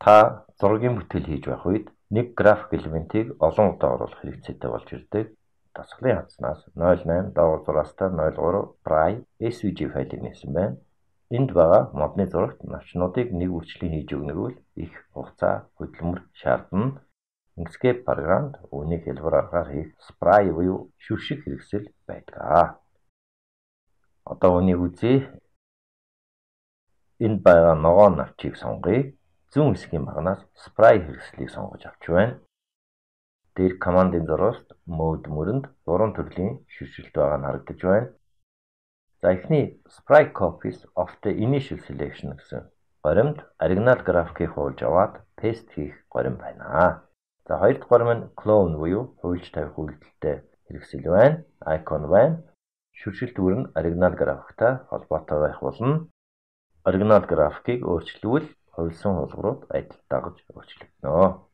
Та зургийн бүтээл хийж байх үед нэг график элементийг олон удаа оруулах хэрэгцээтэй болж ирдэг. Дасгалын хандаснаас 08 доогуур зураастай 03 Spray SVG файлыг нээсэн байна. Энд байгаа модны зурагт навчнуудыг нэг үржлийн хийж өгнө гэвэл их хугацаа хөдөлмөр шаардна. Inkscape програмд үүнийг хэлбэр аргаар хийх Spray буюу шүршиг хэрэгсэл байдаг. Одоо үүнийг үзье. Энд байгаа ногоо навчийг сонгоё. Зүүн хэсгийн багнаас Spray хэрэгслийг сонгож авч байна. Дээр командын зурвалт Mode мөрөнд 3 төрлийн шүршилт байгаа нь харагдаж байна. За эхний Spray copies of the initial selection гэсэн горимд оригинал графикийг хуулж аваад paste хийх горим байна. За хоёр дахь горим нь clone буюу хуульч тавих үйлдэлтэй хэрэгсэл байна. Icon байна. Шүршилт бүр нь оригинал графиктай холбоотой байх болно. Оригинал графикийг өөрчлөвөл хувилсан хуулбарууд адил дагаж өөрчлөгдөнө.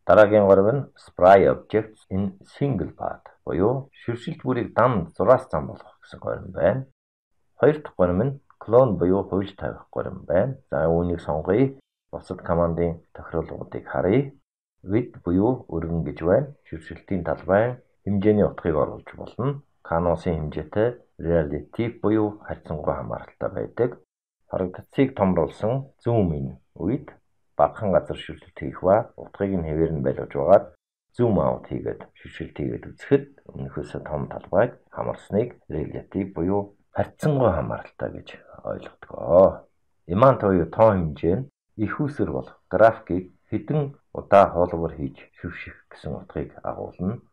Дараагийн горим нь Spray objects in single path буюу шүршилт бүрийг дан зураас зам болгох гэсэн горим байна. Хоёр дахь горим нь clone буюу хуульч тавих горим байна. За үүнийг сонгоё. Бусад командын тохируулгуудыг харъя. Width буюу өргөн гэж байна. Шүршилтийн талбай хэмжээний утгыг оруулж болно. Canvas-ын хэмжээтэй relative буюу харьцангуй хамааралтай байдаг. Харагдцыг томруулсан zoom in үед багахан газар шүршилт хийх ба утгыг нь хэвээр нь байлгаж байгаад zoom out хийгээд шүршилт хийгээд үзэхэд өмнөхөөсөө том талбайг хамарсныг relative буюу харьцангуй хамааралтай гэж ойлгодог. Amount буюу тоон хэмжээ нь их үсэр болох графикийг хэдэн удаа хуулбар хийж шүрших гэсэн утгыг агуулна.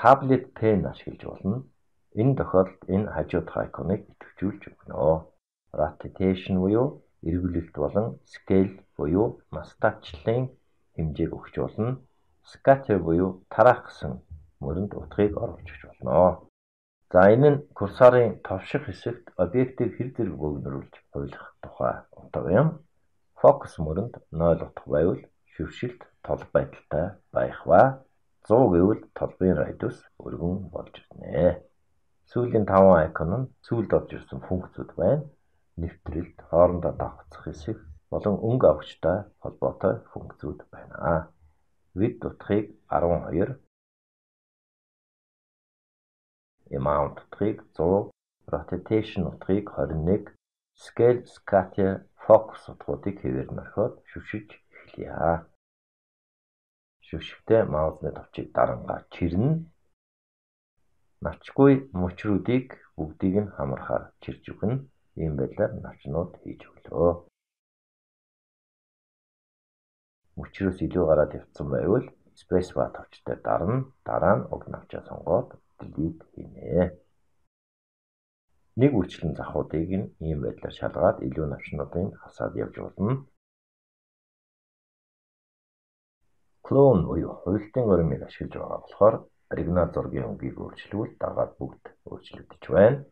Tablet pen ашиглаж болно. Энэ тохиолдолд энэ хажуудах icon-ыг идэвхжүүлж өгнө. Rotation буюу эргүүлэлт болон scale буюу мастачлалын хэмжээг өгч болно. Scatter буюу тараах гэсэн мөрөнд утгыг оруулж өгч болно. За энэ нь курсорын товших хэсэгт объектыг хэр зэрэг бөөгнөрүүлж хуйлах тухай утга юм. Focus мөрөнд 0 утга байвал шүршилт тол байдалтай байх ба 100 гэвэл толбын радиус өргөн болж ирнэ. Сүүлийн 5 icon нь сүүлд орж ирсэн функцүүд байна. Нэвтрэлт, хоорондоо давхцах хэсэг болон өнгө авахчтай холбоотой функцүүд байна. Width утгыг 12, amount утгыг 100, rotation утгыг 21, scale, scatter, focus утгуудыг хэвээр нь орхиод шүршиж эхлэе. Шүршигтэй маусны товчийг дарангаа чирнэ. Навчгүй мөчрүүдийг бүгдийг нь хамархаар чирж өгнө. Ийм байдлаар навчнууд хийж өглөө. Мөчрөөс илүү гараад явцсан байвал space bar товчтой дарна. Дараа нь уг навчаа сонгоод delete хийнэ. Нэг үрчлэн захуудыг нь ийм байдлаар шалгаад илүү навчнуудыг хасаад явж болно. Clone буюу хуйлтын горимыг ашиглаж байгаа болохоор оригинал зургийн өнгийг өөрчлөвөл дагаад бүгд өөрчлөгдөж байна.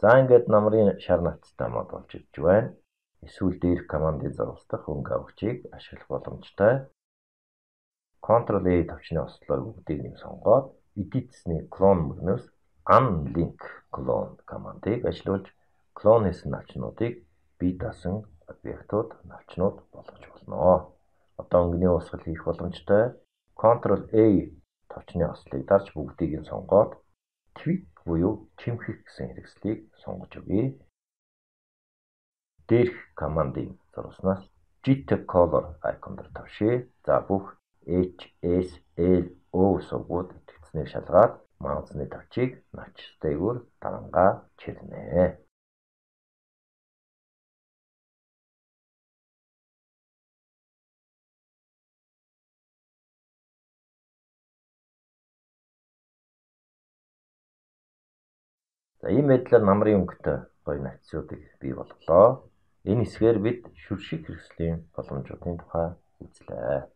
За ингээд намрын шар навцтай мод болж ирж байна. Эсвэл дээрх командын зурвалдах өнгө авахчийг ашиглах боломжтой. Ctrl+A товчны ослоор бүгдийг нь сонгоод эдитсний clone мөрнөөс unlink clone командыг ажиллуулж clone хийсэн навчнуудыг бие даасан объектууд навчнууд болгож болно. Одоо өнгөний уусгал хийх боломжтой. Ctrl+A товчны ослыг дарж бүгдийг нь сонгоод tweak буюу чимхэх гэсэн хэрэгслийг сонгож өгье. Дээрх командын зурваснаас Jitter Color icon-дор тавшъя. За бүх H, S, L, O сувгууд итгэцнийг шалгаад маусны тавчийг навчтайгаар дарангаа чирнэ. За ийм байдлаар намрын өнгөтэй гоё навчсуудыг бий болголоо. Энэ хэсгээр бид шүршиг хэрэгслийн боломжуудын тухай үзлээ.